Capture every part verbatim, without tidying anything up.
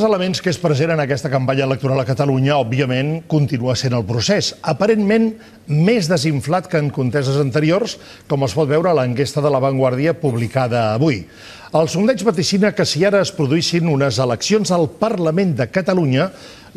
elements que és present en aquesta campanya electoral a Catalunya, òbviament, continua sent el procés. Aparentment, més desinflat que en conteses anteriors, com es pot veure a l'enquesta de La Vanguardia publicada avui. El sondeig vaticina que si ara es produïssin unes eleccions al Parlament de Catalunya,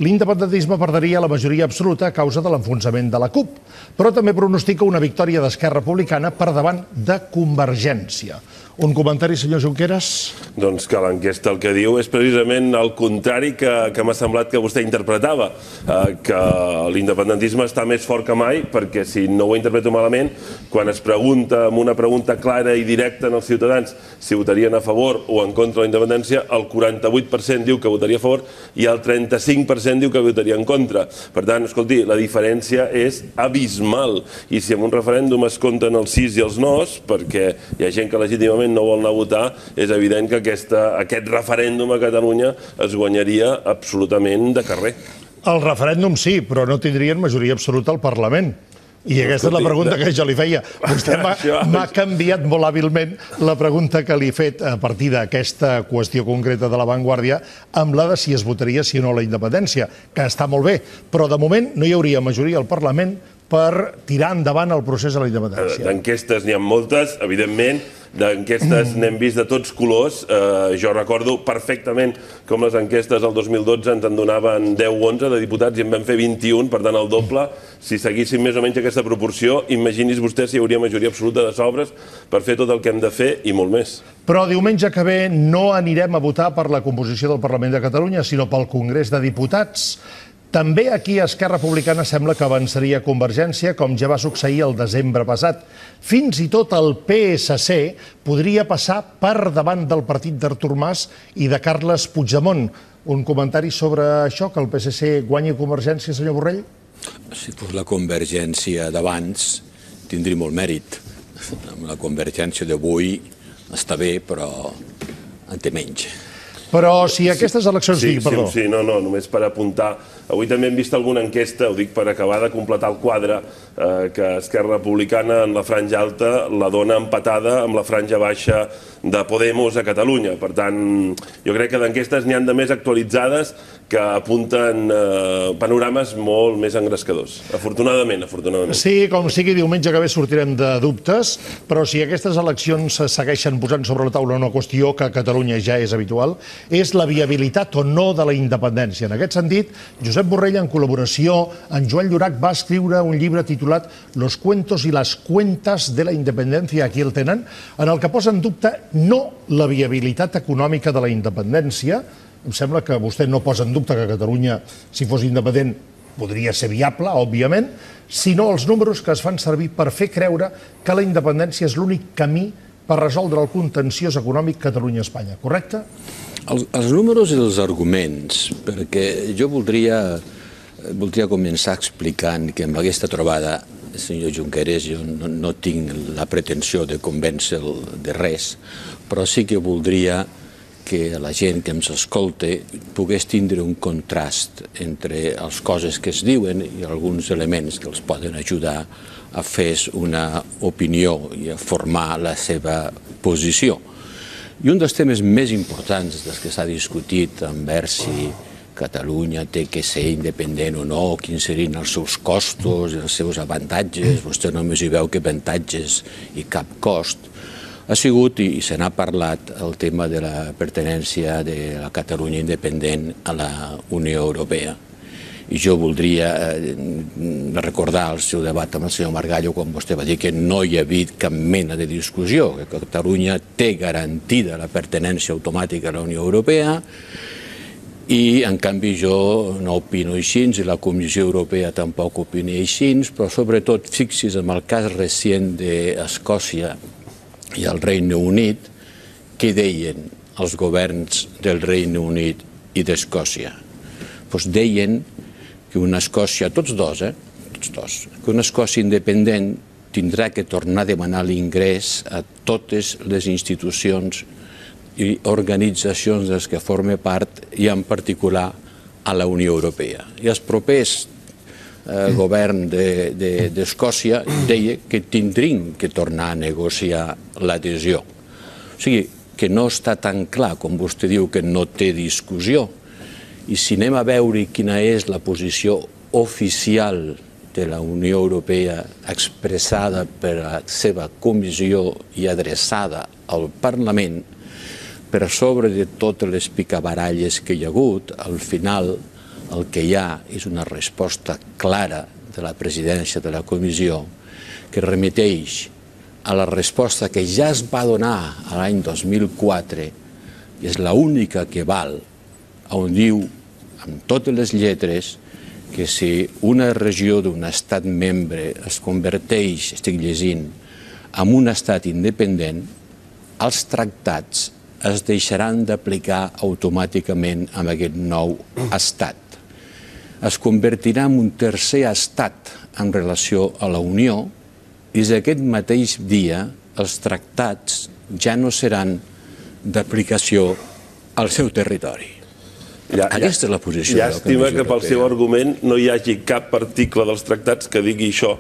l'independentisme perdria la majoria absoluta a causa de l'enfonsament de la CUP, però també pronostica una victòria d'Esquerra Republicana per davant de Convergència. Un comentari, senyor Junqueras? Doncs que l'enquesta el que diu és precisament el contrari que m'ha semblat que vostè interpretava, que l'independentisme està més fort que mai, perquè si no ho interpreto malament, quan es pregunta amb una pregunta clara i directa als ciutadans si votarien a favor o en contra de la independència, el quaranta-vuit per cent diu que votaria a favor i el trenta-cinc per cent diu que votaria en contra. Per tant, escolti, la diferència és abismal. I si en un referèndum es compten els sís i els nos, perquè hi ha gent que legítimament no vol anar a votar, és evident que aquest referèndum a Catalunya es guanyaria absolutament de carrer. El referèndum sí, però no tindrien majoria absoluta al Parlament. I aquesta és la pregunta que jo li feia. Vostè m'ha canviat molt hàbilment la pregunta que li he fet a partir d'aquesta qüestió concreta de La Vanguardia amb la de si es votaria sí o no la independència, que està molt bé, però de moment no hi hauria majoria al Parlament per tirar endavant el procés de la independència. D'enquestes n'hi ha moltes, evidentment, d'enquestes n'hem vist de tots colors. Jo recordo perfectament com les enquestes del dos mil dotze ens en donaven deu o onze de diputats i en vam fer vint-i-un, per tant el doble. Si seguíssim més o menys aquesta proporció, imagini's vostè si hi hauria majoria absoluta de sobres per fer tot el que hem de fer i molt més. Però diumenge que ve no anirem a votar per la composició del Parlament de Catalunya, sinó pel Congrés de Diputats. També aquí Esquerra Republicana sembla que avançaria Convergència, com ja va succeir el desembre passat. Fins i tot el P S C podria passar per davant del partit d'Artur Mas i de Carles Puigdemont. Un comentari sobre això, que el P S C guanyi Convergència, senyor Borrell? Si fos la Convergència d'abans, tindria molt mèrit. La Convergència d'avui està bé, però en té menys. Però si aquestes eleccions... Sí, sí, no, no, només per apuntar. Avui també hem vist alguna enquesta, ho dic per acabar de completar el quadre, que Esquerra Republicana en la franja alta la dona empatada amb la franja baixa de Podemos a Catalunya. Per tant, jo crec que d'enquestes n'hi han de més actualitzades que apunten panorames molt més engrescadors. Afortunadament, afortunadament. Sí, com sigui, diumenge que ve sortirem de dubtes, però si aquestes eleccions segueixen posant sobre la taula una qüestió que a Catalunya ja és habitual, és la viabilitat o no de la independència. En aquest sentit, Josep Borrell, en col·laboració amb Joan Llorach, va escriure un llibre titulat Los cuentos y las cuentas de la independencia, aquí el tenen, en el que posa en dubte no la viabilitat econòmica de la independència. Em sembla que vostè no posa en dubte que Catalunya, si fos independent, podria ser viable, òbviament, sinó els números que es fan servir per fer creure que la independència és l'únic camí per resoldre el contenciós econòmic Catalunya-Espanya, correcte? Els números i els arguments, perquè jo voldria començar explicant que amb aquesta trobada, senyor Junqueras, jo no tinc la pretensió de convèncer-lo de res, però sí que voldria que la gent que ens escolta pogués tindre un contrast entre les coses que es diuen i alguns elements que els poden ajudar a fer una opinió i a formar la seva posició. I un dels temes més importants dels que s'ha discutit envers si Catalunya té que ser independent o no, quins serien els seus costos i els seus avantatges, vostè només hi veu que avantatges i cap cost, ha sigut, i se n'ha parlat, el tema de la pertinència de la Catalunya independent a la Unió Europea. I jo voldria recordar el seu debat amb el senyor Margallo quan vostè va dir que no hi havia cap mena de discussió, que Catalunya té garantida la pertinència automàtica a la Unió Europea i, en canvi, jo no opino així i la Comissió Europea tampoc opina així, però sobretot fixi's en el cas recent d'Escòcia i el Regne Unit, què deien els governs del Regne Unit i d'Escòcia? Doncs deien que una Escòcia, tots dos, eh? Tots dos, que una Escòcia independent tindrà que tornar a demanar l'ingrés a totes les institucions i organitzacions dels que forma part i en particular a la Unió Europea. I els propers govern d'Escòcia deia que tindrien que tornar a negociar l'adhesió. O sigui, que no està tan clar, com vostè diu, que no té discussió, I si anem a veure quina és la posició oficial de la Unió Europea expressada per la seva comissió i adreçada al Parlament, per sobre de totes les picabaralles que hi ha hagut, al final el que hi ha és una resposta clara de la presidència de la comissió que remeteix a la resposta que ja es va donar l'any dos mil quatre i és l'única que val, on diu amb totes les lletres que si una regió d'un estat membre es converteix, estic llegint, en un estat independent, els tractats es deixaran d'aplicar automàticament amb aquest nou estat. Es convertirà en un tercer estat en relació a la Unió i des d'aquest mateix dia els tractats ja no seran d'aplicació al seu territori. Aquesta és la posició. Llàstima que pel seu argument no hi hagi cap article dels tractats que digui això.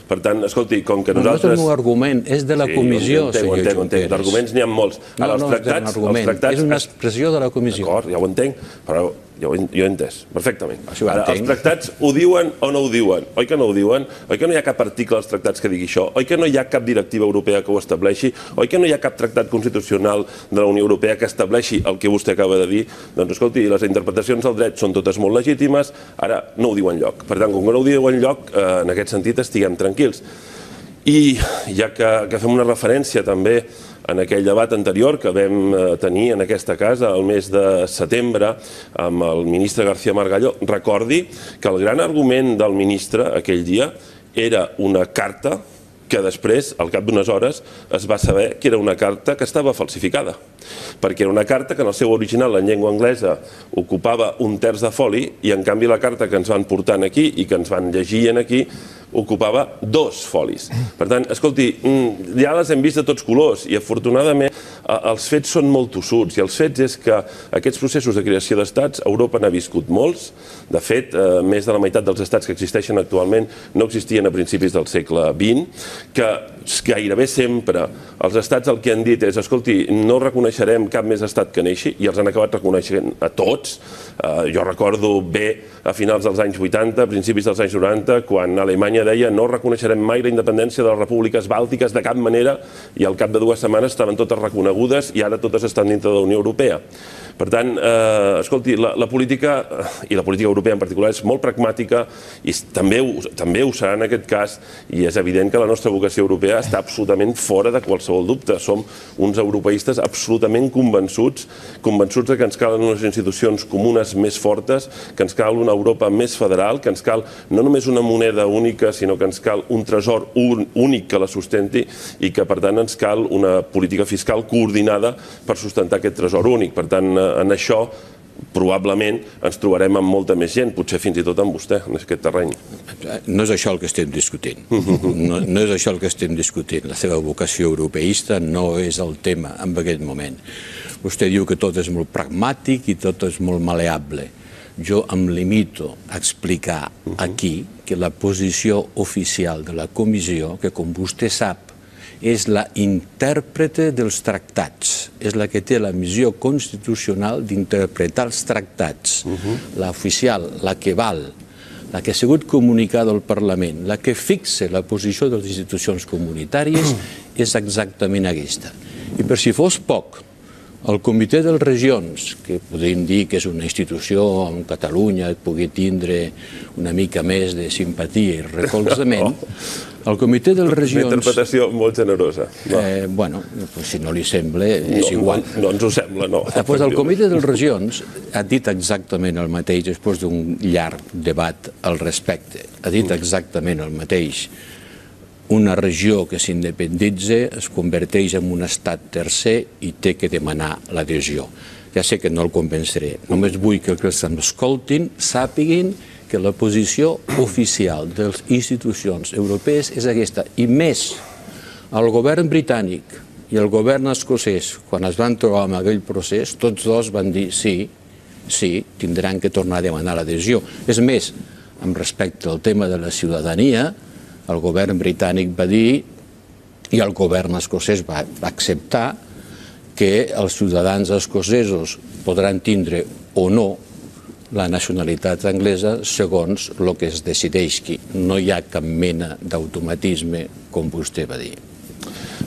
Per tant, escolti, com que nosaltres... No és un argument, és de la comissió, senyor Junqueras. D'arguments n'hi ha molts. No, no és un argument, és una expressió de la comissió. D'acord, ja ho entenc, però jo ho he entès perfectament. Ara, els tractats ho diuen o no ho diuen? Oi que no ho diuen? Oi que no hi ha cap article dels tractats que digui això? Oi que no hi ha cap directiva europea que ho estableixi? Oi que no hi ha cap tractat constitucional de la Unió Europea que estableixi el que vostè acaba de dir? Doncs escolti, les interpretacions del dret són totes molt legítimes, ara no ho diu enlloc. Per tant, com que no ho diu enlloc, en aquest sentit estiguem tranquils. I ja que fem una referència també en aquell debat anterior que vam tenir en aquesta casa el mes de setembre amb el ministre García Margallo, recordi que el gran argument del ministre aquell dia era una carta que després, al cap d'unes hores, es va saber que era una carta que estava falsificada. Perquè era una carta que en el seu original, en llengua anglesa, ocupava un terç de foli i, en canvi, la carta que ens van portant aquí i que ens van llegir aquí ocupava dos folis. Per tant, escolti, ja les hem vist de tots colors i, afortunadament, els fets són molt tossuts i els fets és que aquests processos de creació d'estats Europa n'ha viscut molts. De fet, més de la meitat dels estats que existeixen actualment no existien a principis del segle vint, que gairebé sempre els estats el que han dit és, escolti, no reconeixerem cap més estat que neixi, i els han acabat reconeixent a tots. Jo recordo bé a finals dels anys vuitanta, a principis dels anys noranta, quan Alemanya deia no reconeixerem mai la independència de les repúbliques bàltiques de cap manera, i al cap de dues setmanes estaven totes reconegudes i ara totes estan dintre de la Unió Europea. Per tant, escolti, la política, i la política europea en particular, és molt pragmàtica i també ho serà en aquest cas, i és evident que la nostra vocació europea està absolutament fora de qualsevol dubte. Som uns europeistes absolutament convençuts, convençuts que ens calen unes institucions comunes més fortes, que ens cal una Europa més federal, que ens cal no només una moneda única, sinó que ens cal un tresor únic que la sustenti i que, per tant, ens cal una política fiscal coordinada per sustentar aquest tresor únic. Per tant, en això probablement ens trobarem amb molta més gent, potser fins i tot amb vostè, en aquest terreny. No és això el que estem discutint. No és això el que estem discutint. La seva vocació europeista no és el tema en aquest moment. Vostè diu que tot és molt pragmàtic i tot és molt maleable. Jo em limito a explicar aquí que la posició oficial de la comissió, que com vostè sap, és la intèrprete dels tractats, és la que té la missió constitucional d'interpretar els tractats, la oficial, la que val, la que ha sigut comunicada al Parlament, la que fixa la posició de les institucions comunitàries, és exactament aquesta. I per si fos poc, el Comitè de les Regions, que podríem dir que és una institució on Catalunya pugui tindre una mica més de simpatia i recolzament, el Comitè de les Regions... Una interpretació molt generosa. Bueno, si no li sembla, és igual. No ens ho sembla, no. El Comitè de les Regions ha dit exactament el mateix després d'un llarg debat al respecte. Ha dit exactament el mateix. Una regió que s'independitza es converteix en un estat tercer i té que demanar l'adhesió. Ja sé que no el convenceré. Només vull que els que m'escoltin sàpiguin que la posició oficial de les institucions europees és aquesta. I més, el govern britànic i el govern escocès, quan es van trobar amb aquell procés, tots dos van dir sí, sí, tindran que tornar a demanar l'adhesió. És més, amb respecte al tema de la ciutadania, el govern britànic va dir, i el govern escocès va acceptar, que els ciutadans escocesos podran tindre o no la nacionalitat anglesa segons el que es decideixi. No hi ha cap mena d'automatisme, com vostè va dir.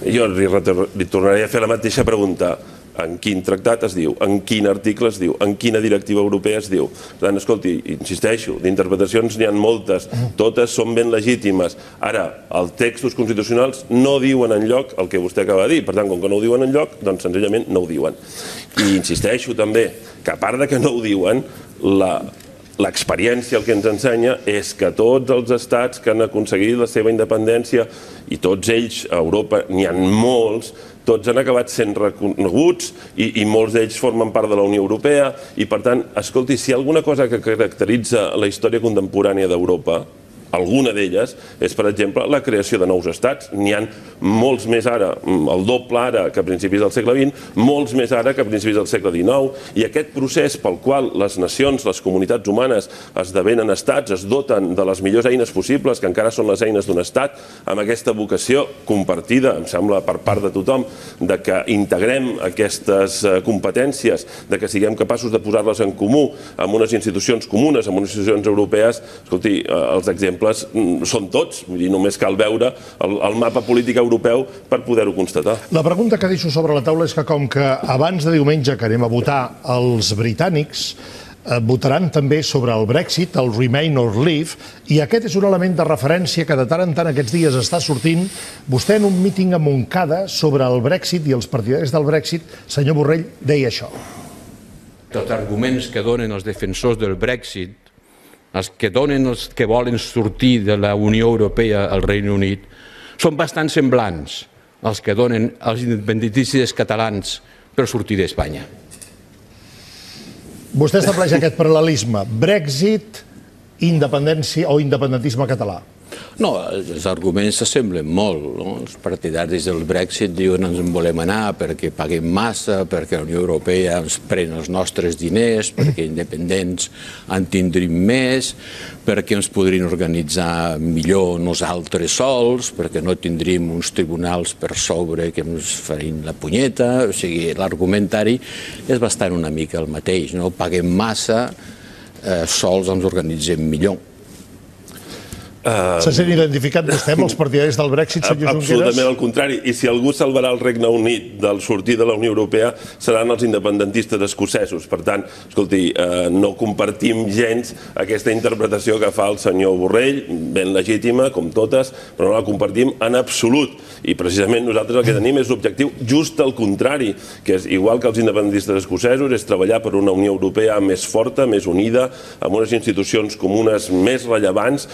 Jo li tornaré a fer la mateixa pregunta. En quin tractat es diu, en quin article es diu, en quina directiva europea es diu. Per tant, escolti, insisteixo, d'interpretacions n'hi ha moltes, totes són ben legítimes. Ara, els textos constitucionals no diuen enlloc el que vostè acaba de dir, per tant, com que no ho diuen enlloc, doncs senzillament no ho diuen. I insisteixo també que a part de que no ho diuen, l'experiència el que ens ensenya és que tots els estats que han aconseguit la seva independència, i tots ells a Europa n'hi ha molts, tots han acabat sent reconeguts i molts d'ells formen part de la Unió Europea i, per tant, escolti, si hi ha alguna cosa que caracteritza la història contemporània d'Europa, alguna d'elles és, per exemple, la creació de nous estats. N'hi ha molts més ara, el doble ara que a principis del segle vint, molts més ara que a principis del segle dinou, i aquest procés pel qual les nacions, les comunitats humanes esdevenen estats, es doten de les millors eines possibles, que encara són les eines d'un estat, amb aquesta vocació compartida, em sembla, per part de tothom, de que integrem aquestes competències, de que siguem capaços de posar-les en comú amb unes institucions comunes, amb unes institucions europees. Escolti, els exemples són tots, només cal veure el mapa polític europeu per poder-ho constatar. La pregunta que deixo sobre la taula és que com que abans de diumenge que anem a votar els britànics votaran també sobre el Brexit, el Remain or Leave, i aquest és un element de referència que de tant en tant aquests dies està sortint. Vostè en un míting a Montcada sobre el Brexit i els partidaris del Brexit, senyor Borrell, deia això. Els arguments que donen els defensors del Brexit, els que donen els que volen sortir de la Unió Europea al Regne Unit, són bastant semblants als que donen els independentistes catalans per sortir d'Espanya. Vostè estableix aquest paral·lelisme, Brexit, independència o independentisme català. No, els arguments s'assemblen molt. Els partidaris del Brexit diuen ens en volem anar perquè paguem massa, perquè la Unió Europea ens pren els nostres diners, perquè independents en tindrim més, perquè ens podrien organitzar millor nosaltres sols, perquè no tindríem uns tribunals per sobre que ens farin la punyeta. O sigui, l'argumentari és bastant una mica el mateix. Paguem massa, sols ens organitzem millor. Se sent identificat vostè amb els partidaris del Brexit, senyor Junqueras? Absolutament al contrari. I si algú salvarà el Regne Unit del sortir de la Unió Europea seran els independentistes escocesos. Per tant, escolti, no compartim gens aquesta interpretació que fa el senyor Borrell, ben legítima, com totes, però no la compartim en absolut. I precisament nosaltres el que tenim és l'objectiu just al contrari, que és igual que els independentistes escocesos, és treballar per una Unió Europea més forta, més unida, amb unes institucions comunes més rellevants,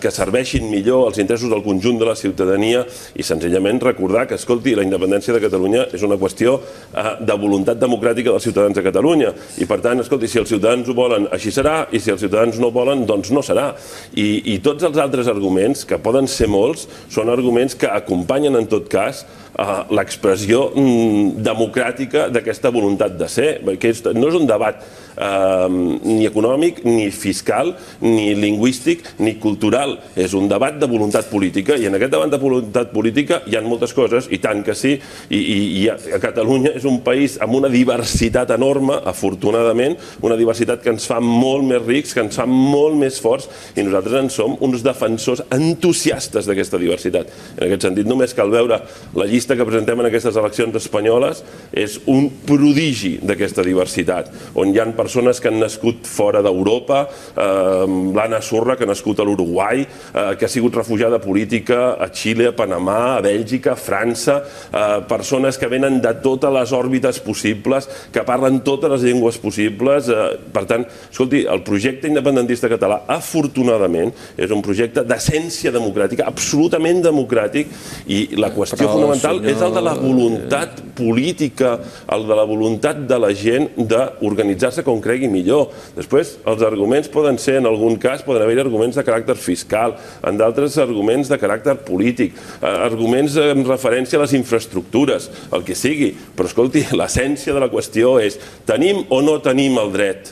que serveixin millor els interessos del conjunt de la ciutadania i senzillament recordar que, escolti, la independència de Catalunya és una qüestió de voluntat democràtica dels ciutadans de Catalunya i, per tant, escolti, si els ciutadans ho volen, així serà, i si els ciutadans no volen, doncs no serà. I tots els altres arguments, que poden ser molts, són arguments que acompanyen, en tot cas, l'expressió democràtica d'aquesta voluntat de ser. No és un debat ni econòmic, ni fiscal, ni lingüístic, ni cultural. És un debat de voluntat política i en aquest debat de voluntat política hi ha moltes coses, i tant que sí, i Catalunya és un país amb una diversitat enorme, afortunadament, una diversitat que ens fa molt més rics, que ens fa molt més forts, i nosaltres en som uns defensors entusiastes d'aquesta diversitat. En aquest sentit, només cal veure la llista que presentem en aquestes eleccions espanyoles, és un prodigi d'aquesta diversitat, on hi ha persones que han nascut fora d'Europa, l'Anna Surra, que ha nascut a l'Uruguai, que ha sigut refugiada política a Xile, a Panamà, a Bèlgica, a França, persones que venen de totes les òrbites possibles, que parlen totes les llengües possibles. Per tant, escolti, el projecte independentista català, afortunadament, és un projecte d'essència democràtica, absolutament democràtic, i la qüestió fonamental és el de la voluntat política, el de la voluntat de la gent d'organitzar-se com cregui millor. Després, els arguments poden ser, en algun cas, poden haver arguments de caràcter fiscal, en d'altres arguments de caràcter polític, arguments en referència a les infraestructures, el que sigui. Però, escolti, l'essència de la qüestió és: tenim o no tenim el dret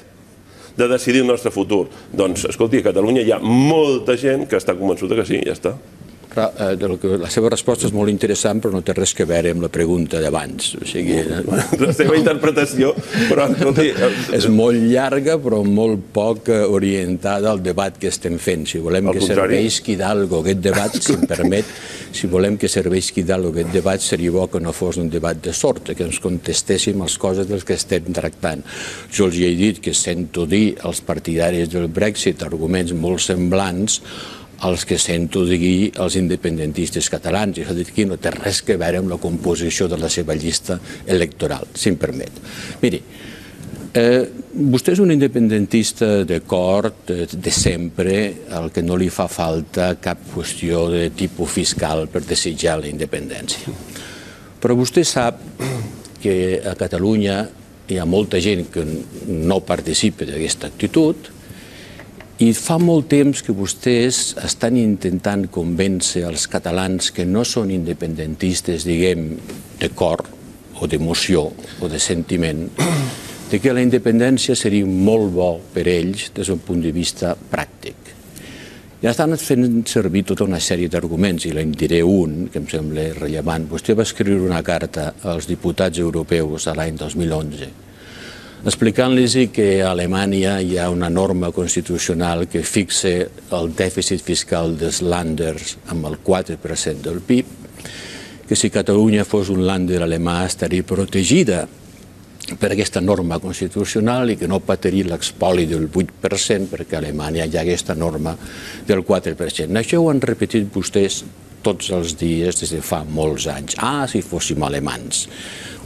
de decidir el nostre futur? Doncs, escolti, a Catalunya hi ha molta gent que està convençuda que sí, ja està. La seva resposta és molt interessant, però no té res a veure amb la pregunta d'abans. La seva interpretació, però... És molt llarga, però molt poc orientada al debat que estem fent. Si volem que serveixi d'algo aquest debat, si em permet, si volem que serveixi d'algo aquest debat, seria bo que no fos un debat de sort, que ens contestéssim les coses dels que estem tractant. Jo els he dit que sento dir als partidaris del Brexit arguments molt semblants els que sento dir als independentistes catalans. I s'ha dit que no té res a veure amb la composició de la seva llista electoral, si em permet. Miri, vostè és un independentista d'acord de sempre, al que no li fa falta cap qüestió de tipus fiscal per desitjar la independència. Però vostè sap que a Catalunya hi ha molta gent que no participa d'aquesta actitud i fa molt temps que vostès estan intentant convèncer els catalans que no són independentistes, diguem, de cor o d'emoció o de sentiment, de que la independència seria molt bo per ells des d'un punt de vista pràctic. Ja estan fent servir tota una sèrie d'arguments, i en diré un, que em sembla rellevant. Vostè va escriure una carta als diputats europeus l'any dos mil onze, explicant-los que a Alemanya hi ha una norma constitucional que fixa el dèficit fiscal dels Länders amb el quatre per cent del P I B, que si Catalunya fos un Länder alemà estaria protegida per aquesta norma constitucional i que no patiria l'expoli del vuit per cent perquè a Alemanya hi ha aquesta norma del quatre per cent. Això ho han repetit vostès tots els dies des de fa molts anys. Ah, si fóssim alemans.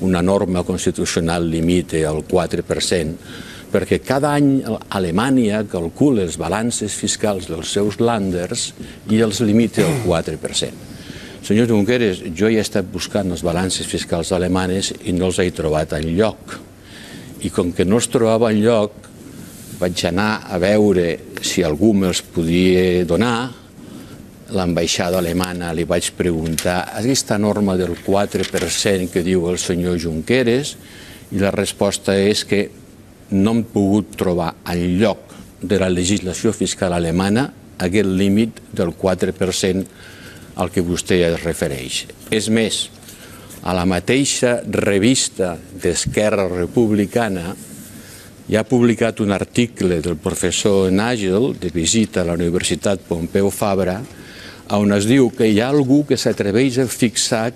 Una norma constitucional limita el quatre per cent, perquè cada any Alemanya calcula els balances fiscals dels seus Länders i els limita al quatre per cent. Senyor Junqueras, jo he estat buscant els balances fiscals alemanes i no els he trobat enlloc. I com que no els trobava enlloc, vaig anar a veure si algú me'ls podia donar. L'ambaixada alemana li vaig preguntar aquesta norma del quatre per cent que diu el senyor Junqueras i la resposta és que no hem pogut trobar enlloc de la legislació fiscal alemana aquest límit del quatre per cent al que vostè es refereix. És més, a la mateixa revista d'Esquerra Republicana hi ha publicat un article del professor Nagel de visita a la Universitat Pompeu Fabra on es diu que hi ha algú que s'atreveix a fixar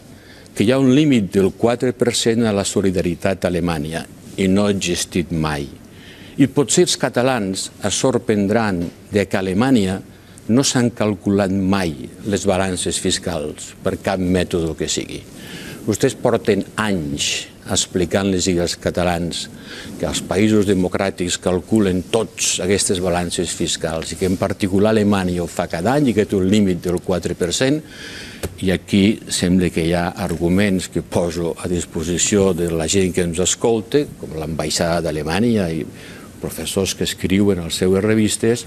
que hi ha un límit del quatre per cent a la solidaritat a Alemanya i no ha existit mai. I potser els catalans es sorprendran que a Alemanya no s'han calculat mai les balances fiscals per cap mètode que sigui. Vostès porten anys explicant-los als catalans que els països democràtics calculen tots aquestes balances fiscals i que en particular Alemanya ho fa cada any i que té un límit del quatre per cent i aquí sembla que hi ha arguments que poso a disposició de la gent que ens escolta, com l'ambaixada d'Alemanya i professors que escriuen a les seves revistes,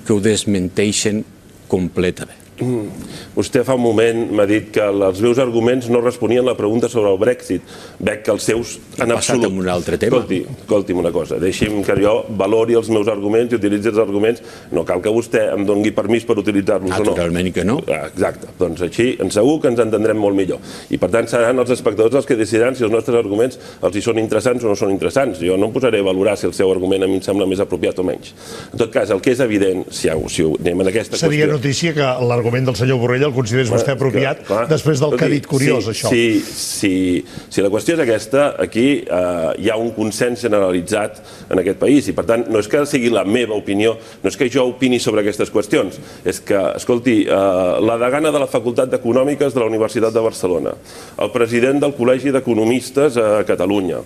que ho desmenteixen completament. Vostè fa un moment m'ha dit que els meus arguments no responien a la pregunta sobre el Brexit. Veig que els seus en absolut... Passat amb un altre tema. Escolti, escolti'm una cosa, deixi'm que jo valori els meus arguments i utilitzi els arguments. No cal que vostè em doni permís per utilitzar-los o no. Naturalment que no. Exacte, doncs així segur que ens entendrem molt millor. I per tant seran els espectadors els que decidiran si els nostres arguments els hi són interessants o no són interessants. Jo no em posaré a valorar si el seu argument a mi em sembla més apropiat o menys. En tot cas, el que és evident, si anem en aquesta qüestió... Seria notícia que l'argument del senyor Borrell el considerés vostè apropiat després del que ha dit curiós, això. Si la qüestió és aquesta, aquí hi ha un consens generalitzat en aquest país i, per tant, no és que sigui la meva opinió, no és que jo opini sobre aquestes qüestions, és que, escolti, la degana de la Facultat d'Econòmiques de la Universitat de Barcelona, el president del Col·legi d'Economistes a Catalunya,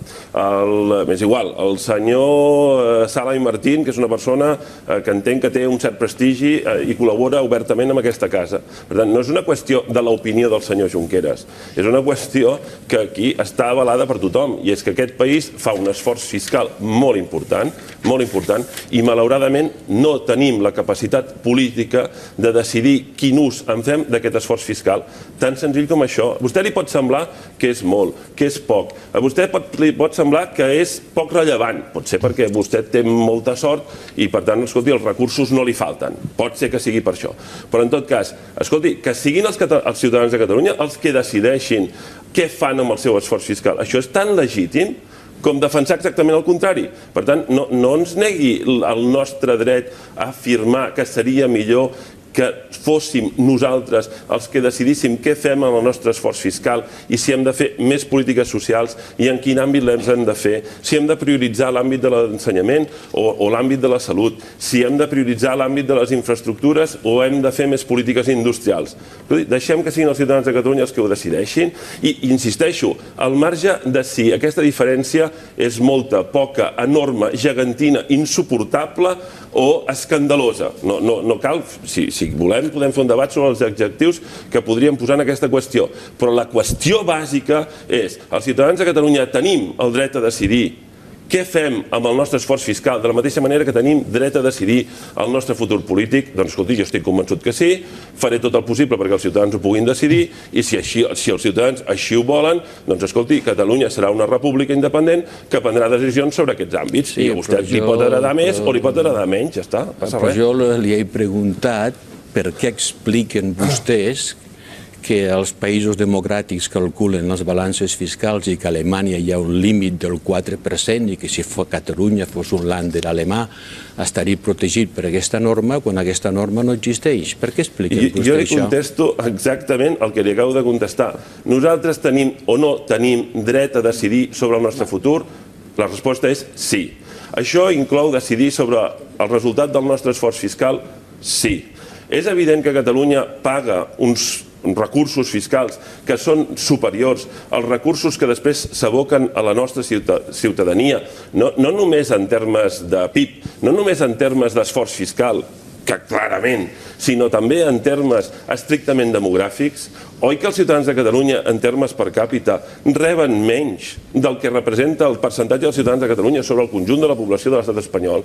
és igual, el senyor Sala i Martín, que és una persona que entenc que té un cert prestigi i col·labora obertament amb aquesta casa. Per tant, no és una qüestió de l'opinió del senyor Junqueras, és una qüestió que aquí està avalada per tothom, i és que aquest país fa un esforç fiscal molt important, molt important, i malauradament no tenim la capacitat política de decidir quin ús en fem d'aquest esforç fiscal. Tan senzill com això. A vostè li pot semblar que és molt, que és poc. A vostè li pot semblar que és poc rellevant. Pot ser perquè vostè té molta sort i, per tant, escolti, els recursos no li falten. Pot ser que sigui per això. Però, en tot cas, cas, escolti, que siguin els ciutadans de Catalunya els que decideixin què fan amb el seu esforç fiscal. Això és tan legítim com defensar exactament el contrari. Per tant, no, no ens negui el nostre dret a afirmar que seria millor que fóssim nosaltres els que decidíssim què fem amb el nostre esforç fiscal i si hem de fer més polítiques socials i en quin àmbit les hem de fer, si hem de prioritzar l'àmbit de l'ensenyament o, o l'àmbit de la salut, si hem de prioritzar l'àmbit de les infraestructures o hem de fer més polítiques industrials. Deixem que siguin els ciutadans de Catalunya els que ho decideixin i, insisteixo, al marge de si aquesta diferència és molta, poca, enorme, gegantina, insuportable o escandalosa. No, no, no cal, si, si volem podem fer un debat sobre els adjectius que podríem posar en aquesta qüestió, però la qüestió bàsica és els ciutadans de Catalunya tenim el dret a decidir què fem amb el nostre esforç fiscal, de la mateixa manera que tenim dret a decidir el nostre futur polític. Doncs escolti, jo estic convençut que sí, faré tot el possible perquè els ciutadans ho puguin decidir i si, així, si els ciutadans així ho volen, doncs escolti, Catalunya serà una república independent que prendrà decisions sobre aquests àmbits i a vostè li pot agradar més o li pot agradar menys, ja està, passa res. Però jo li he preguntat per què expliquen vostès que els països democràtics calculen les balances fiscals i que a Alemanya hi ha un límit del quatre per cent i que si Catalunya fos un länder alemà estaria protegit per aquesta norma quan aquesta norma no existeix. Per què expliquen vostès això? Jo li contesto exactament el que li acabo de contestar. Nosaltres tenim o no tenim dret a decidir sobre el nostre futur? La resposta és sí. Això inclou decidir sobre el resultat del nostre esforç fiscal? Sí. És evident que Catalunya paga uns recursos fiscals que són superiors als recursos que després s'aboquen a la nostra ciutadania, no, no només en termes de P I B, no només en termes d'esforç fiscal, que clarament, sinó també en termes estrictament demogràfics. Oi que els ciutadans de Catalunya, en termes per càpita, reben menys del que representa el percentatge dels ciutadans de Catalunya sobre el conjunt de la població de l'estat espanyol?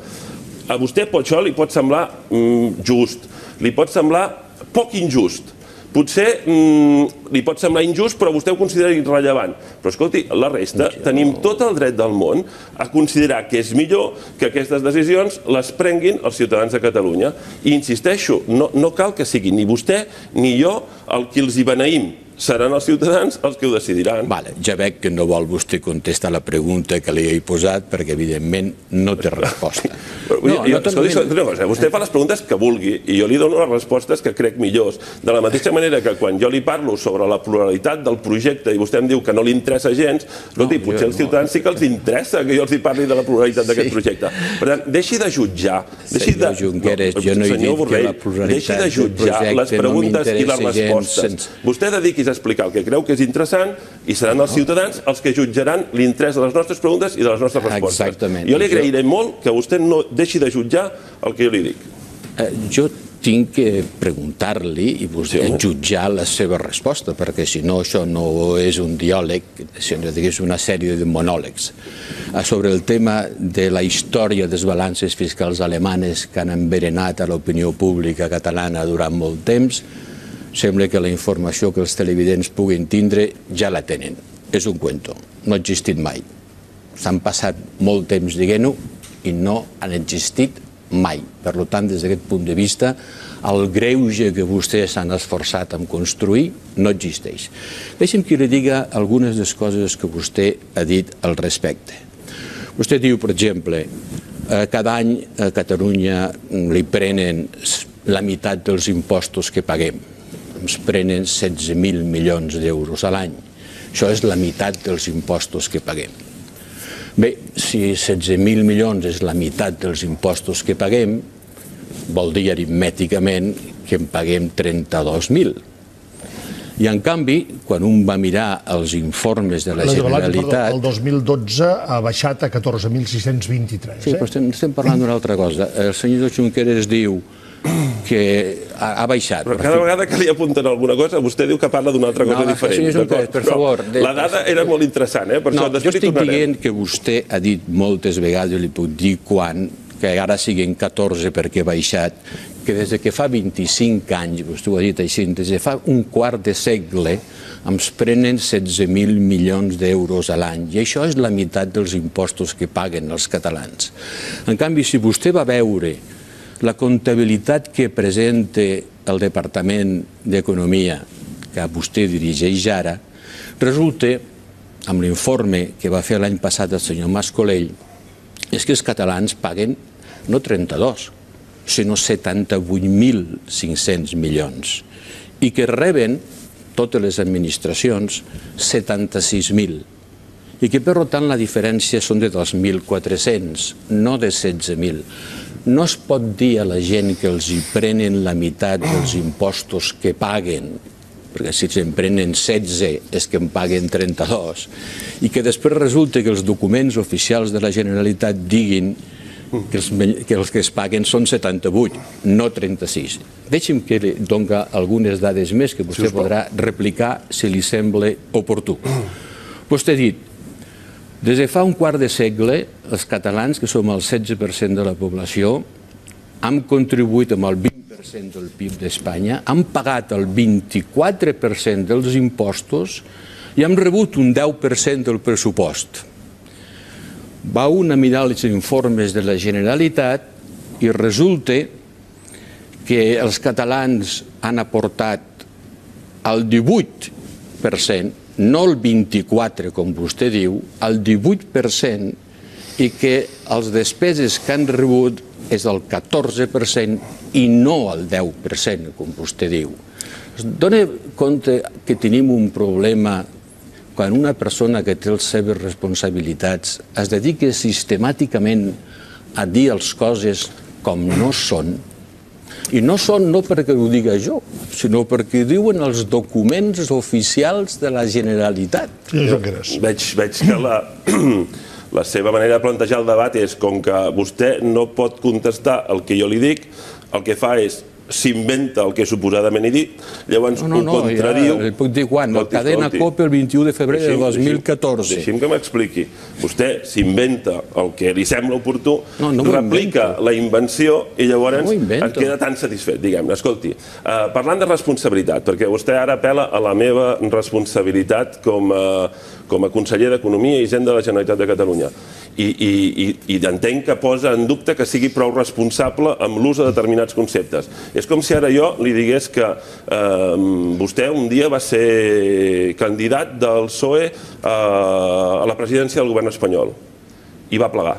A vostè això li pot semblar mm, just, li pot semblar poc injust. Potser mm, li pot semblar injust, però vostè ho considera irrellevant. Però escolti, la resta, tenim tot el dret del món a considerar que és millor que aquestes decisions les prenguin els ciutadans de Catalunya. I insisteixo, no, no cal que sigui ni vostè ni jo el qui els hi beneïm. Seran els ciutadans els que ho decidiran. Vale, ja veig que no vol vostè contestar la pregunta que li he posat perquè, evidentment, no té resposta. No, jo, jo, escolti, una cosa, vostè fa les preguntes que vulgui i jo li dono les respostes que crec millors. De la mateixa manera que quan jo li parlo sobre la pluralitat del projecte i vostè em diu que no li interessa gens, escolti, potser als ciutadans sí que els interessa que jo els hi parli de la pluralitat d'aquest projecte. Per tant, deixi de jutjar. Senyor Junqueras, jo no he dit que la pluralitat del projecte no m'interessa gens. Vostè dediqui's a explicar el que creu que és interessant i seran els ciutadans els que jutjaran l'interès de les nostres preguntes i de les nostres respostes. Exactament. Jo li agrairé molt que vostè no deixi de jutjar el que jo li dic. Jo tinc que preguntar-li i vostè jutjar la seva resposta, perquè si no això no és un diàleg, sinó que és una sèrie de monòlegs. Sobre el tema de la història de les balances fiscals alemanes que han enverenat a l'opinió pública catalana durant molt temps, sembla que la informació que els televidents puguin tindre ja la tenen. És un cuento, no ha existit mai. S'han passat molt temps dient-ho i no han existit mai. Per tant, des d'aquest punt de vista, el greuge que vostès s'han esforçat en construir no existeix. Deixi'm que li diga algunes de les coses que vostè ha dit al respecte. Vostè diu, per exemple, cada any a Catalunya li prenen la meitat dels impostos que paguem. Ens prenen setze mil milions d'euros a l'any. Això és la meitat dels impostos que paguem. Bé, si setze mil milions és la meitat dels impostos que paguem, vol dir aritmèticament que en paguem trenta-dos mil. I en canvi, quan un va mirar els informes de la Generalitat... El dos mil dotze ha baixat a catorze mil sis-cents vint-i-tres. Sí, però estem parlant d'una altra cosa. El senyor Junqueras diu que ha baixat. Però cada vegada que li apunten alguna cosa, vostè diu que parla d'una altra cosa diferent. Senyor Junqueras, per favor... La dada era molt interessant, eh? No, jo estic dient que vostè ha dit moltes vegades, li puc dir quan, que ara siguin catorze perquè ha baixat, que des que fa vint-i-cinc anys, vostè ho ha dit així, des de fa un quart de segle, ens prenen setze mil milions d'euros a l'any, i això és la meitat dels impostos que paguen els catalans. En canvi, si vostè va veure la comptabilitat que presenta el Departament d'Economia, que vostè dirigeix ara, resulta, amb l'informe que va fer l'any passat el senyor Mas-Colell, és que els catalans paguen no trenta-dos, sinó setanta-vuit mil cinc-cents milions, i que reben totes les administracions setanta-sis mil, i que per tant la diferència són de dos mil quatre-cents, no de setze mil. No es pot dir a la gent que els hi prenen la meitat dels impostos que paguen, perquè si se'n prenen setze és que en paguen trenta-dos, i que després resulta que els documents oficials de la Generalitat diguin que els, que els que es paguen són setanta-vuit, no trenta-sis. Deixi'm que li doni algunes dades més que vostè podrà replicar si li sembla oportú. Vostè ha dit, des de fa un quart de segle, els catalans, que som el setze per cent de la població, hem contribuït amb el vint per cent del P I B d'Espanya, hem pagat el vint-i-quatre per cent dels impostos i hem rebut un deu per cent del pressupost. Va un a mirar els informes de la Generalitat i resulta que els catalans han aportat el divuit per cent, no el vint-i-quatre com vostè diu, el divuit per cent, i que les despeses que han rebut és el catorze per cent i no el deu per cent, com vostè diu. Es dona compte que tenim un problema quan una persona que té les seves responsabilitats es dedica sistemàticament a dir les coses com no són, i no són no perquè ho diga jo, sinó perquè diuen els documents oficials de la Generalitat. Veig, veig que la, la seva manera de plantejar el debat és com que vostè no pot contestar el que jo li dic, el que fa és s'inventa el que suposadament he dit, llavors ho contradiu... No, no, puc dir quan, el Cadena Cope el vint-i-u de febrer de dos mil catorze. Deixi'm que m'expliqui. Vostè s'inventa el que li sembla oportú, replica la invenció i llavors et queda tan satisfet, diguem-ne. Escolti, parlant de responsabilitat, perquè vostè ara apel·la a la meva responsabilitat com a conseller d'Economia i Hisenda de la Generalitat de Catalunya. I entenc que posa en dubte que sigui prou responsable amb l'ús de determinats conceptes. És com si ara jo li digués que vostè un dia va ser candidat del P S O E a la presidència del govern espanyol i va plegar.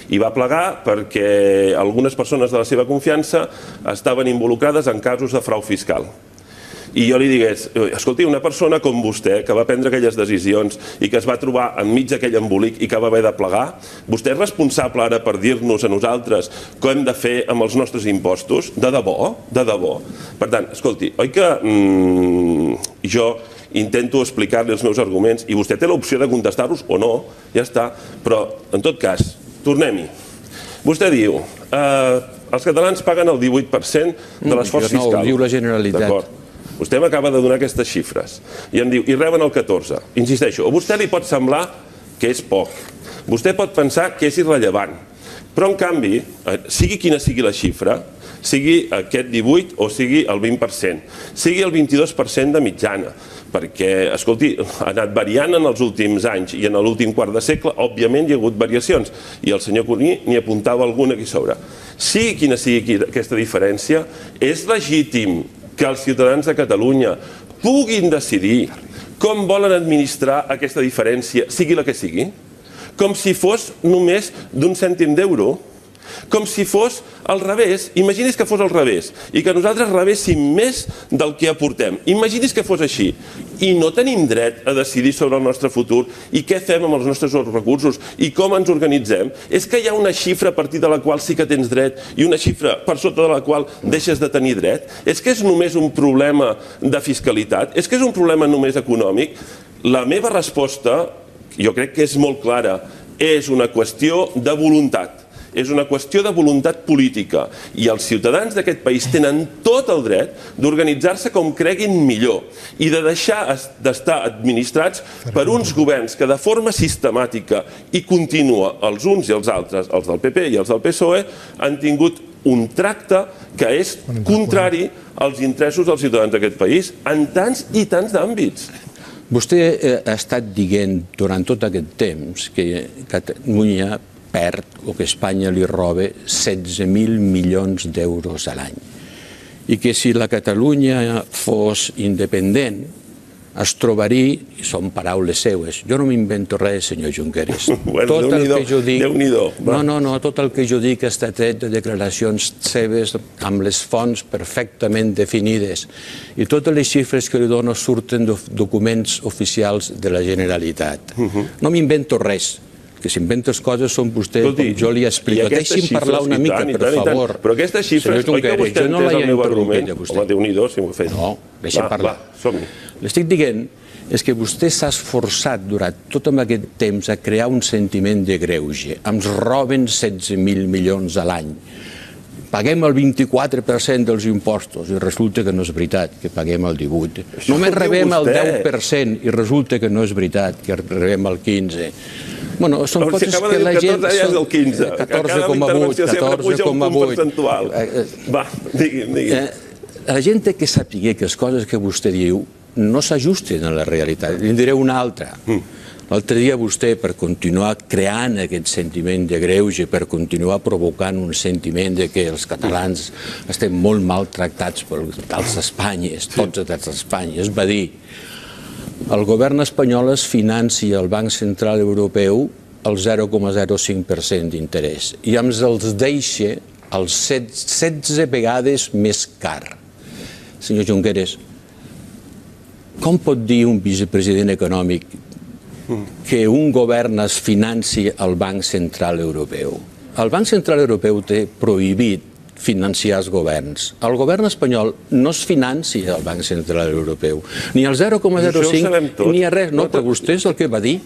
I va plegar perquè algunes persones de la seva confiança estaven involucrades en casos de frau fiscal. I jo li digués, escolti, una persona com vostè, que va prendre aquelles decisions i que es va trobar enmig d'aquell embolic i que va haver de plegar, vostè és responsable ara per dir-nos a nosaltres què hem de fer amb els nostres impostos? De debò? De debò? Per tant, escolti, oi que jo intento explicar-li els meus arguments i vostè té l'opció de contestar-los o no, ja està, però en tot cas, tornem-hi. Vostè diu, els catalans paguen el divuit per cent de l'esforç fiscal. No, ho diu la Generalitat. D'acord. Vostè m'acaba de donar aquestes xifres i em diu, i reben el catorze. Insisteixo, a vostè li pot semblar que és poc. Vostè pot pensar que és irrellevant. Però, en canvi, sigui quina sigui la xifra, sigui aquest divuit o sigui el vint per cent, sigui el vint-i-dos per cent de mitjana, perquè, escolti, ha anat variant en els últims anys i en l'últim quart de segle, òbviament, hi ha hagut variacions, i el senyor Cuní n'hi apuntava alguna aquí sobre. Sigui quina sigui aquesta diferència, és legítim que els ciutadans de Catalunya puguin decidir com volen administrar aquesta diferència, sigui la que sigui, com si fos només d'un cèntim d'euro, com si fos al revés. Imagini's que fos al revés i que nosaltres rebéssim més del que aportem. Imagini's que fos així i no tenim dret a decidir sobre el nostre futur i què fem amb els nostres recursos i com ens organitzem. És que hi ha una xifra a partir de la qual sí que tens dret i una xifra per sota de la qual deixes de tenir dret. És que és només un problema de fiscalitat? És que és un problema només econòmic? La meva resposta, jo crec que és molt clara, és una qüestió de voluntat. És una qüestió de voluntat política i els ciutadans d'aquest país tenen tot el dret d'organitzar-se com creguin millor i de deixar d'estar administrats per uns governs que de forma sistemàtica i contínua, els uns i els altres, els del P P i els del P S O E, han tingut un tracte que és contrari als interessos dels ciutadans d'aquest país en tants i tants d'àmbits. Vostè ha estat dient durant tot aquest temps que Catalunya perd o que Espanya li roba setze mil milions d'euros a l'any. I que si la Catalunya fos independent, es trobaria, i són paraules seues, jo no m'invento res, senyor Junqueras. Tot el que jo dic, no, no, no, tot el que jo dic està tret de declaracions seves amb les fonts perfectament definides i totes les xifres que li dono surten de documents oficials de la Generalitat. No m'invento res. Que s'inventes coses són vostè, com jo li explico. Deixi'm parlar una mica, per favor. Però aquestes xifres, oi que vostè entès el meu argument? Home, Déu-n'hi-do, si m'ho fes. No, deixi'm parlar. L'estic dient és que vostè s'ha esforçat durant tot aquest temps a crear un sentiment de greuge. Ens roben setze mil milions a l'any. Paguem el vint-i-quatre per cent dels impostos i resulta que no és veritat, que paguem el divuit. Només rebem el deu per cent i resulta que no és veritat, que rebem el quinze per cent. Bueno, són coses que la gent... catorze ja és el quinze. catorze coma vuit, catorze coma vuit. Va, digui'm, digui'm. La gent té que saber que les coses que vostè diu no s'ajusten a la realitat. Li diré una altra. L'altre dia vostè, per continuar creant aquest sentiment de greuge, per continuar provocant un sentiment de que els catalans estem molt maltractats pels Espanyes, tots els Espanyes, va dir: el govern espanyol es financia al Banc Central Europeu al zero coma zero cinc per cent d'interès i ens els deixa als setze vegades més car. Senyor Junqueras, com pot dir un vicepresident econòmic que un govern es financi al Banc Central Europeu? El Banc Central Europeu té prohibit financiar els governs. El govern espanyol no es financia al Banc Central Europeu, ni el zero coma zero cinc ni a res. No, però vostè és el que va dir.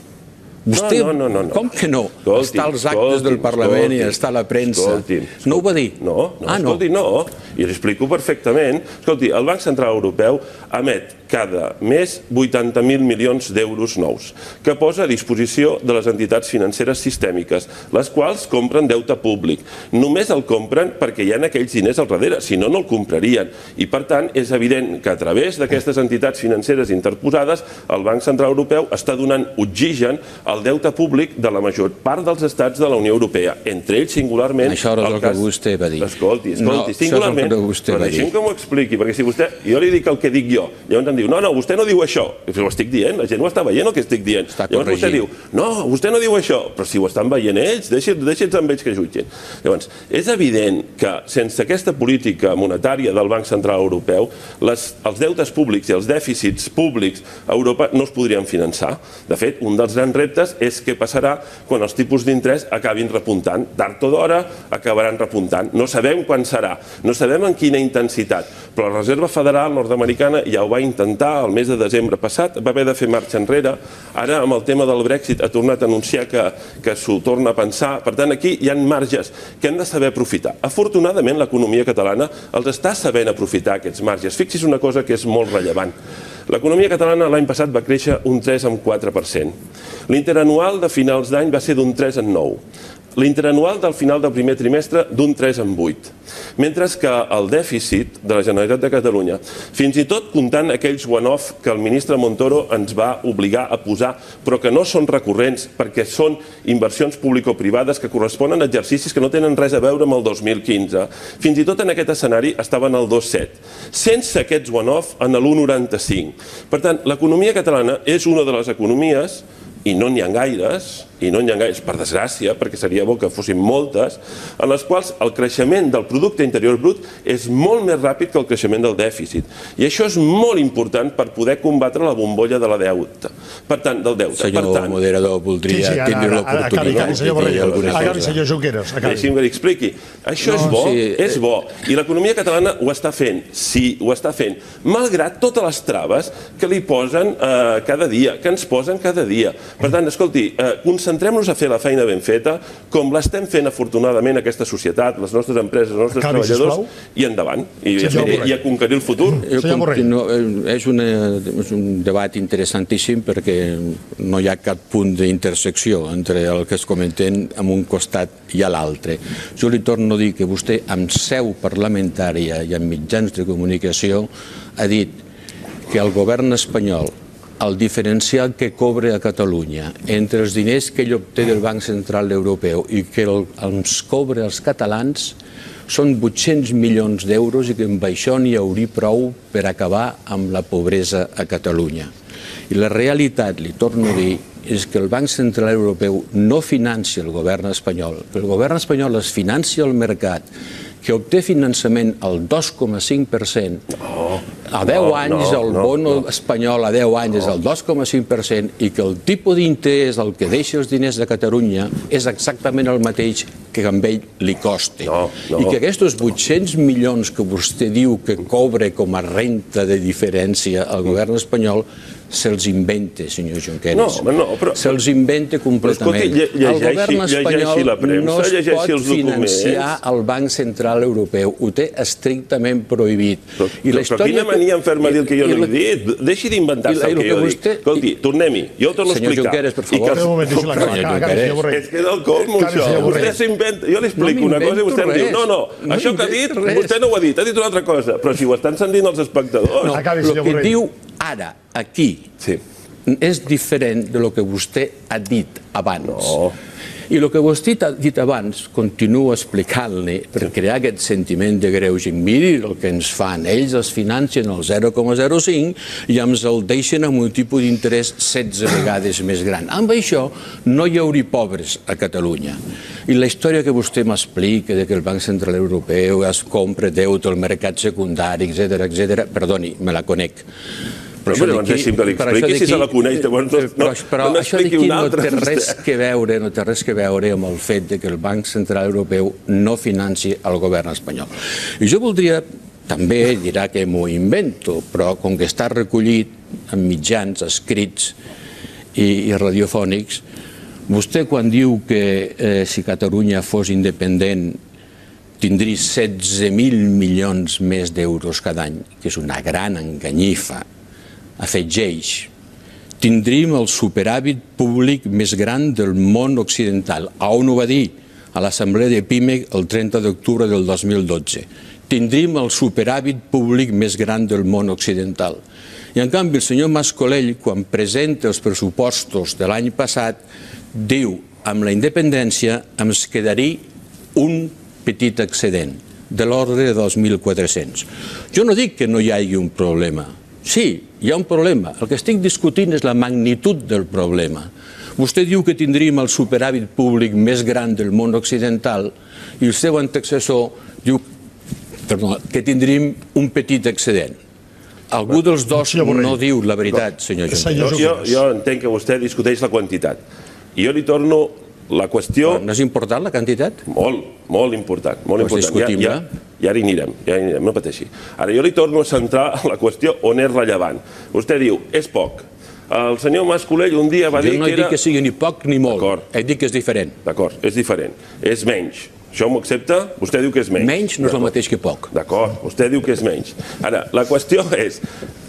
Vostè, com que no? Està als actes del Parlament i està a la premsa. No ho va dir? No, escolti, no. I l'hi explico perfectament. Escolti, el Banc Central Europeu emet cada mes vuitanta mil milions d'euros nous, que posa a disposició de les entitats financeres sistèmiques, les quals compren deute públic. Només el compren perquè hi ha aquells diners al darrere, si no, no el comprarien. I, per tant, és evident que a través d'aquestes entitats financeres interposades, el Banc Central Europeu està donant oxigen al deute públic de la major part dels estats de la Unió Europea, entre ells singularment... Això és el que vostè va dir. Escolti, escolti, singularment, però deixi'm que m'ho expliqui, perquè si vostè... Jo li dic el que dic jo, llavors em diu, no, no, vostè no diu això. Ho estic dient, la gent ho està veient el que estic dient. Llavors vostè diu, no, vostè no diu això, però si ho estan veient ells, deixi'ls amb ells que jutgin. Llavors, és evident que sense aquesta política monetària del Banc Central Europeu, els deutes públics i els dèficits públics a Europa no es podrien finançar. De fet, un dels grans reptes és què passarà quan els tipus d'interès acabin repuntant. Tard o d'hora acabaran repuntant. No sabem quan serà, no sabem en quina intensitat, però la Reserva Federal nord-americana ja ho va intentar el mes de desembre passat, va haver de fer marxa enrere. Ara, amb el tema del Brexit, ha tornat a anunciar que s'ho torna a pensar. Per tant, aquí hi ha marges que hem de saber aprofitar. Afortunadament, l'economia catalana els està sabent aprofitar, aquests marges. Fixi's una cosa que és molt rellevant. L'economia catalana l'any passat va créixer un tres coma quatre per cent. L'interanual de finals d'any va ser d'un tres coma nou. L'interanual del final del primer trimestre d'un tres coma vuit. Mentre que el dèficit de la Generalitat de Catalunya, fins i tot comptant aquells one-off que el ministre Montoro ens va obligar a posar, però que no són recurrents perquè són inversions público-privades que corresponen a exercicis que no tenen res a veure amb el dos mil quinze, fins i tot en aquest escenari estaven al dos coma set. Sense aquests one-off en l'u coma noranta-cinc. Per tant, l'economia catalana és una de les economies, i no n'hi ha gaires, i no n'hi ha gaires, per desgràcia, perquè seria bo que fossin moltes, en les quals el creixement del producte interior brut és molt més ràpid que el creixement del dèficit. I això és molt important per poder combatre la bombolla de la deuta. Per tant, del deute. Senyor moderador, voldria tindre l'oportunitat de dir alguna cosa. Acabi, senyor Junqueras. Deixi'm que li expliqui. Això és bo, és bo. I l'economia catalana ho està fent. Sí, ho està fent. Malgrat totes les traves que li posen cada dia, que ens posen cada dia. Per tant, escolti, concentrem-nos a fer la feina ben feta, com l'estem fent afortunadament aquesta societat, les nostres empreses, els nostres treballadors, i endavant. I a conquerir el futur. És un debat interessantíssim perquè no hi ha cap punt d'intersecció entre el que es comenten en un costat i a l'altre. Jo li torno a dir que vostè, amb seu parlamentària i amb mitjans de comunicació, ha dit que el govern espanyol el diferencial que cobra a Catalunya entre els diners que ell obté del Banc Central Europeu i que els cobra als catalans són vuit-cents milions d'euros i que amb això n'hi hauria prou per acabar amb la pobresa a Catalunya. I la realitat, li torno a dir, és que el Banc Central Europeu no financia el govern espanyol, que el govern espanyol es financia al mercat, que obté finançament al dos coma cinc per cent, a deu anys el bono espanyol a deu anys és el dos coma cinc per cent i que el tipus d'interès el que deixa els diners de Catalunya és exactament el mateix que amb ell li costa. I que aquests vuit-cents milions que vostè diu que cobra com a renta de diferència al govern espanyol se'ls inventa, senyor Junqueras. Se'ls inventa completament. El govern espanyol no es pot financiar al Banc Central Europeu. Ho té estrictament prohibit. Però quina mania em fer-me dir el que jo no he dit? Deixi d'inventar-se el que jo dic. Escolti, tornem-hi. Jo ho torno a explicar. Senyor Junqueras, per favor. És que és el colmo, això. Vostè s'inventa. Jo li explico una cosa i vostè em diu no, no, això que ha dit, vostè no ho ha dit, ha dit una altra cosa. Però si ho estan sentint els espectadors. El que diu ara, aquí, és diferent del que vostè ha dit abans. I el que vostè ha dit abans, continuo explicant-li, per crear aquest sentiment de greuge. Miri el que ens fan. Ells es financen el zero coma zero cinc i ens el deixen amb un tipus d'interès setze vegades més gran. Amb això no hi hauria pobres a Catalunya. I la història que vostè m'explica que el Banc Central Europeu es compra deute al mercat secundari, etcètera, etcètera, perdoni, me la conec. Però llavors deixi'm que li expliqui si se la coneix. Però això d'aquí no té res que veure, no té res que veure amb el fet que el Banc Central Europeu no financi el govern espanyol. I jo voldria, també dirà que m'ho invento, però com que està recollit en mitjans escrits i radiofònics, vostè quan diu que si Catalunya fos independent tindria setze mil milions més d'euros cada any, que és una gran enganyifa, afegeix, tindríem el superàvit públic més gran del món occidental. A on ho va dir? A l'Assemblea de Pimec el trenta d'octubre del dos mil dotze. Tindríem el superàvit públic més gran del món occidental. I en canvi el senyor Mas-Colell, quan presenta els pressupostos de l'any passat, diu, amb la independència ens quedaria un petit excedent, de l'ordre de dos mil quatre-cents. Jo no dic que no hi hagi un problema. Sí, hi ha un problema. El que estic discutint és la magnitud del problema. Vostè diu que tindríem el superàvit públic més gran del món occidental i el seu antecessor diu que tindríem un petit excedent. Algú dels dos no diu la veritat, senyor Junqueras. Jo entenc que vostè discuteix la quantitat. I jo li torno la qüestió... No és important la quantitat? Molt, molt important. Doncs discutim-la. I ara hi anirem, ja hi anirem, no pateixi. Ara jo li torno a centrar la qüestió on és rellevant. Vostè diu, és poc. El senyor Mas-Colell un dia va dir que era... Jo no he dit que sigui ni poc ni molt, he dit que és diferent. D'acord, és diferent. És menys. Això m'ho accepta? Vostè diu que és menys. Menys no és el mateix que poc. D'acord, vostè diu que és menys. Ara, la qüestió és,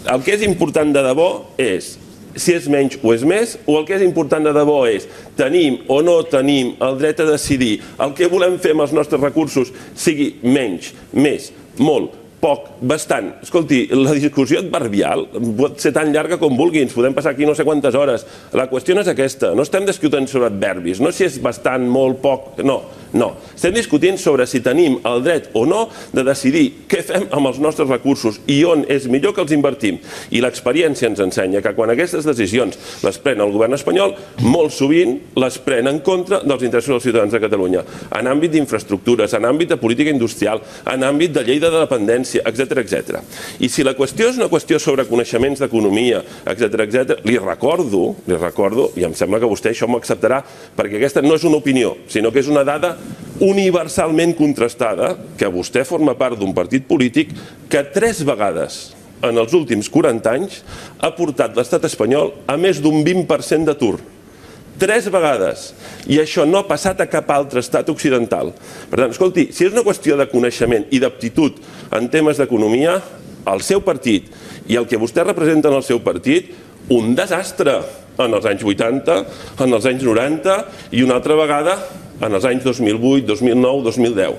el que és important de debò és si és menys o és més, o el que és important de debò és tenim o no tenim el dret a decidir el que volem fer amb els nostres recursos, sigui menys, més, molt, poc, bastant. Escolti, la discussió adverbial pot ser tan llarga com vulgui, ens podem passar aquí no sé quantes hores. La qüestió no és aquesta, no estem discutint sobre adverbis, no si és bastant, molt, poc, no, no. Estem discutint sobre si tenim el dret o no de decidir què fem amb els nostres recursos i on és millor que els invertim. I l'experiència ens ensenya que quan aquestes decisions les pren el govern espanyol, molt sovint les pren en contra dels interessos dels ciutadans de Catalunya, en àmbit d'infraestructures, en àmbit de política industrial, en àmbit de llei de dependència, etcètera, etcètera. I si la qüestió és una qüestió sobre coneixements d'economia, etcètera, etcètera, li recordo, li recordo, i em sembla que vostè això m'ho acceptarà, perquè aquesta no és una opinió, sinó que és una dada universalment contrastada, que vostè forma part d'un partit polític que tres vegades en els últims quaranta anys ha portat l'estat espanyol a més d'un vint per cent d'atur. Tres vegades. I això no ha passat a cap altre estat occidental. Per tant, escolti, si és una qüestió de coneixement i d'aptitud en temes d'economia, el seu partit i el que vostè representa en el seu partit, un desastre en els anys vuitanta, en els anys noranta i una altra vegada en els anys dos mil vuit, dos mil nou, dos mil deu.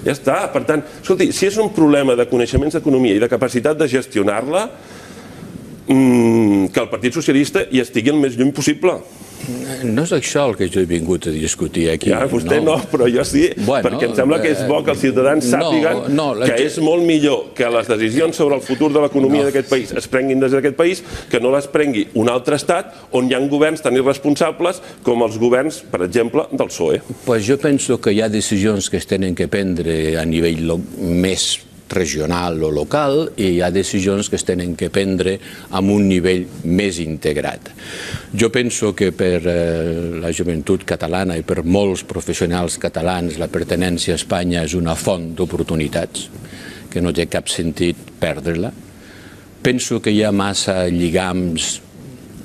Ja està. Per tant, escolti, si és un problema de coneixements d'economia i de capacitat de gestionar-la, mmm, que el Partit Socialista hi estigui el més lluny possible. No és això el que jo he vingut a discutir aquí. Ja, vostè no, però jo sí, perquè em sembla que és bo que els ciutadans sàpiguen que és molt millor que les decisions sobre el futur de l'economia d'aquest país es prenguin des d'aquest país, que no les prengui un altre estat on hi ha governs tan irresponsables com els governs, per exemple, del P S O E. Pues jo penso que hi ha decisions que es tenen que prendre a nivell més regional o local i hi ha decisions que es tenen que prendre amb un nivell més integrat. Jo penso que per la joventut catalana i per molts professionals catalans la pertinença a Espanya és una font d'oportunitats, que no té cap sentit perdre-la. Penso que hi ha massa lligams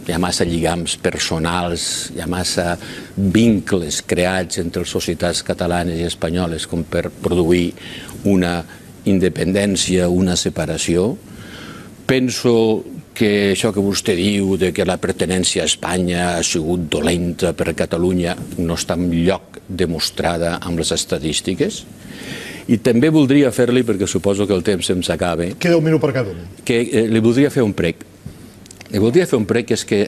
hi ha massa lligams personals, hi ha massa vincles creats entre les societats catalanes i espanyoles com per produir una independència, una separació. Penso que això que vostè diu de que la pertinença a Espanya ha sigut dolenta per a Catalunya no està enlloc demostrada amb les estadístiques. I també voldria fer-li, perquè suposo que el temps se'm s'acaba, queda un minut per cada un, que li voldria fer un prec. Li voldria fer un prec que és que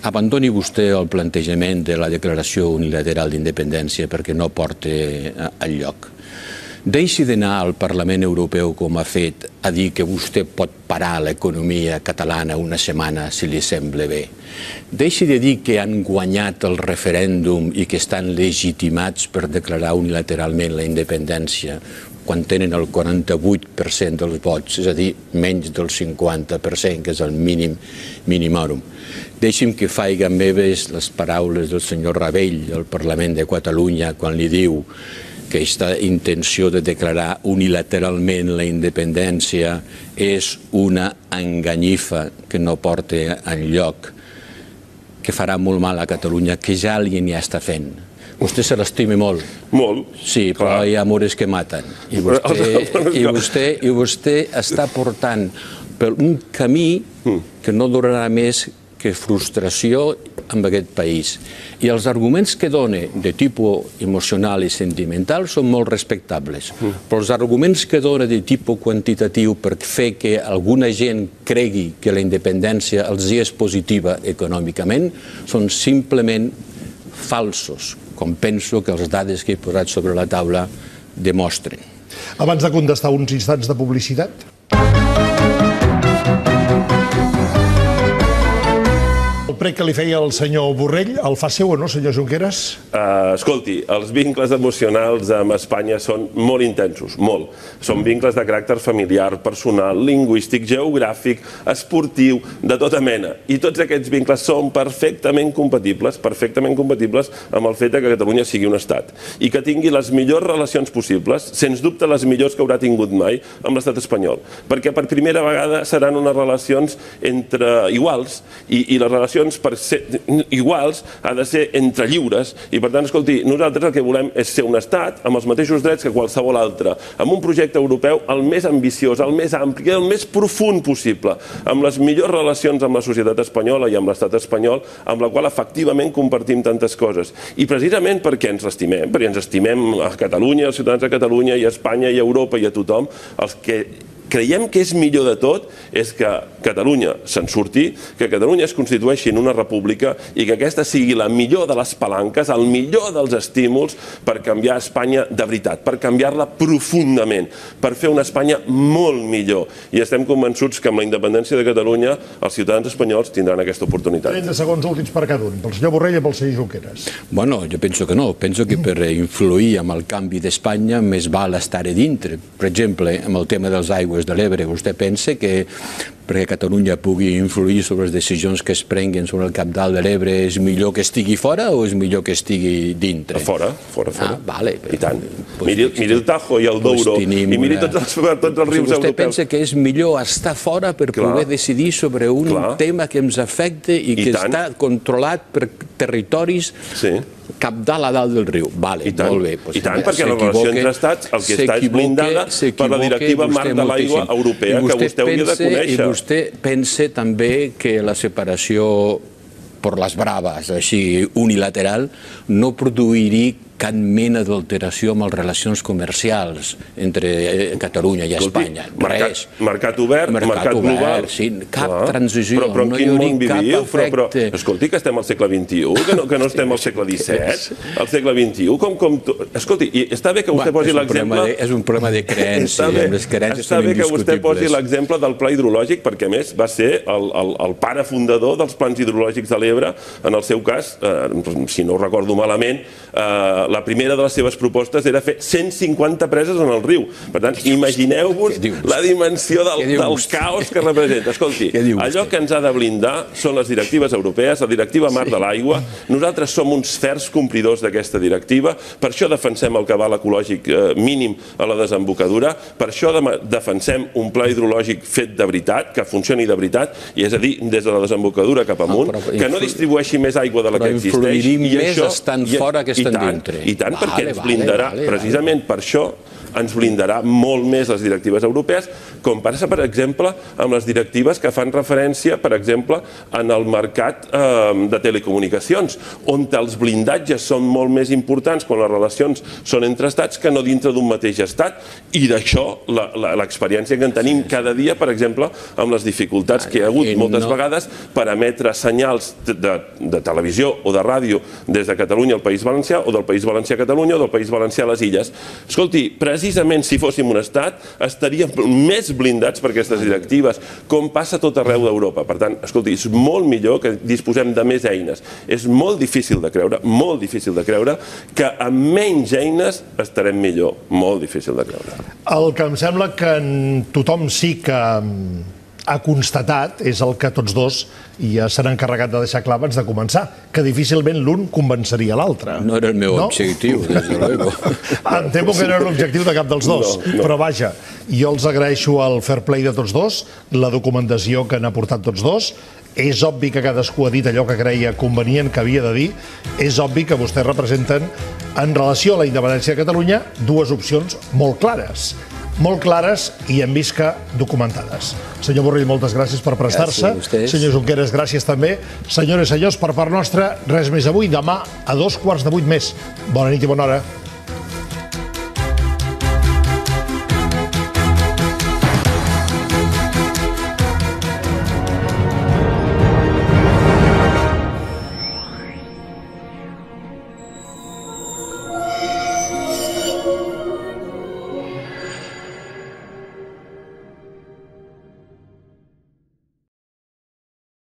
abandoni vostè el plantejament de la declaració unilateral d'independència perquè no porta enlloc. Deixi d'anar al Parlament Europeu, com ha fet, a dir que vostè pot parar l'economia catalana una setmana si li sembla bé. Deixi de dir que han guanyat el referèndum i que estan legitimats per declarar unilateralment la independència quan tenen el quaranta-vuit per cent dels vots, és a dir, menys del cinquanta per cent, que és el mínim minimòrum. Deixi'm que faci meves les paraules del senyor Rabell al Parlament de Catalunya quan li diu que aquesta intenció de declarar unilateralment la independència és una enganyifa que no porta enlloc, que farà molt mal a Catalunya, que ja alguien ja està fent. Vostè se l'estima molt. Molt. Sí, però hi ha amores que maten. I vostè està portant per un camí que no durarà més que frustració en aquest país. I els arguments que dona de tipus emocional i sentimental són molt respectables, però els arguments que dona de tipus quantitatiu per fer que alguna gent cregui que la independència els és positiva econòmicament són simplement falsos, com penso que les dades que he posat sobre la taula demostren. Abans de contestar uns instants de publicitat. El prec que li feia el senyor Borrell, el fa seu o no, senyor Junqueras? Escolti, els vincles emocionals amb Espanya són molt intensos, molt. Són vincles de caràcter familiar, personal, lingüístic, geogràfic, esportiu, de tota mena. I tots aquests vincles són perfectament compatibles, perfectament compatibles amb el fet que Catalunya sigui un estat i que tingui les millors relacions possibles, sens dubte les millors que haurà tingut mai amb l'estat espanyol. Perquè per primera vegada seran unes relacions entre iguals i les relacions per ser iguals ha de ser entre lliures i per tant, escolti, nosaltres el que volem és ser un estat amb els mateixos drets que qualsevol altre, amb un projecte europeu el més ambiciós, el més ampli, el més profund possible, amb les millors relacions amb la societat espanyola i amb l'estat espanyol, amb la qual efectivament compartim tantes coses. I precisament perquè ens estimem, perquè ens estimem a Catalunya, els ciutadans de Catalunya i a Espanya i a Europa i a tothom, els que creiem que és millor de tot és que Catalunya se'n surti, que Catalunya es constitueixi en una república i que aquesta sigui la millor de les palanques, el millor dels estímuls per canviar Espanya de veritat, per canviar-la profundament, per fer una Espanya molt millor. I estem convençuts que amb la independència de Catalunya els ciutadans espanyols tindran aquesta oportunitat. trenta segons últims per cada un, pel senyor Borrell i pel senyor Junqueras. Bueno, jo penso que no. Penso que per influir en el canvi d'Espanya més val estar a dintre. Per exemple, amb el tema dels aigües de l'Ebre, vostè pensa que perquè Catalunya pugui influir sobre les decisions que es prenguen sobre el cabdal de l'Ebre és millor que estigui fora o és millor que estigui dintre? Fora, fora, fora. Ah, vale. I tant. Miri el Tajo i el Douro i miri tots els rius europeus. Vostè pensa que és millor estar fora per poder decidir sobre un tema que ens afecta i que està controlat per territoris cabdal a dalt del riu. Vale, molt bé. I tant, perquè la relació entre estats el que està és blindada per la directiva marc de l'aigua europea que vostè hauria de conèixer. I vostè pensa també que la separació per les braves, així unilateral, no produiria cap mena d'alteració amb les relacions comercials entre Catalunya i Espanya. Res. Mercat obert, mercat global. Sí, cap transició. Però en quin món viviu? Escolti, que estem al segle vint-i-u, que no estem al segle disset, al segle vint-i-u. Escolti, està bé que vostè posi l'exemple... És un problema de creença, les creences són indiscutibles. Està bé que vostè posi l'exemple del pla hidrològic, perquè a més va ser el pare fundador dels plans hidrològics de l'Ebre, en el seu cas, si no ho recordo malament, la primera de les seves propostes era fer cent cinquanta preses en el riu. Per tant, imagineu-vos la dimensió del caos que representa. Escolti, allò que ens ha de blindar són les directives europees, la directiva Mar de l'Aigua. Nosaltres som uns ferms complidors d'aquesta directiva, per això defensem el cabal ecològic mínim a la desembocadura, per això defensem un pla hidrològic fet de veritat, que funcioni de veritat, i és a dir, des de la desembocadura cap amunt, que no distribueixi més aigua de la que existeix. Però influirim més estant fora que estant dintre. I tant, perquè ens blindarà, precisament per això, ens blindarà molt més les directives europees, com passa, per exemple, amb les directives que fan referència, per exemple, en el mercat de telecomunicacions, on els blindatges són molt més importants quan les relacions són entre estats que no dintre d'un mateix estat, i d'això l'experiència que en tenim cada dia, per exemple, amb les dificultats que hi ha hagut moltes vegades per emetre senyals de televisió o de ràdio des de Catalunya al País Valencià, o del País Valencià a Catalunya, o del País Valencià a les Illes. Escolti, precisament si fóssim un estat, estaríem més blindats per aquestes directives, com passa a tot arreu d'Europa. Per tant, escolti, és molt millor que disposem de més eines. És molt difícil de creure, molt difícil de creure, que amb menys eines estarem millor. Molt difícil de creure. El que em sembla que tothom sí que ha constatat és el que tots dos ja s'han encarregat de deixar clar abans de començar, que difícilment l'un convenceria l'altre. No era el meu objectiu, des de luego. Em temo que no era l'objectiu de cap dels dos, però vaja, jo els agraeixo el fair play de tots dos, la documentació que han aportat tots dos. És obvi que cadascú ha dit allò que creia convenient que havia de dir. És obvi que vostès representen, en relació a la independència de Catalunya, dues opcions molt clares. Molt clares i hem vist que documentades. Senyor Borrell, moltes gràcies per prestar-se. Senyor Junqueras, gràcies també. Senyores i senyors, per part nostra, res més avui. Demà a dos quarts de vuit més. Bona nit i bona hora.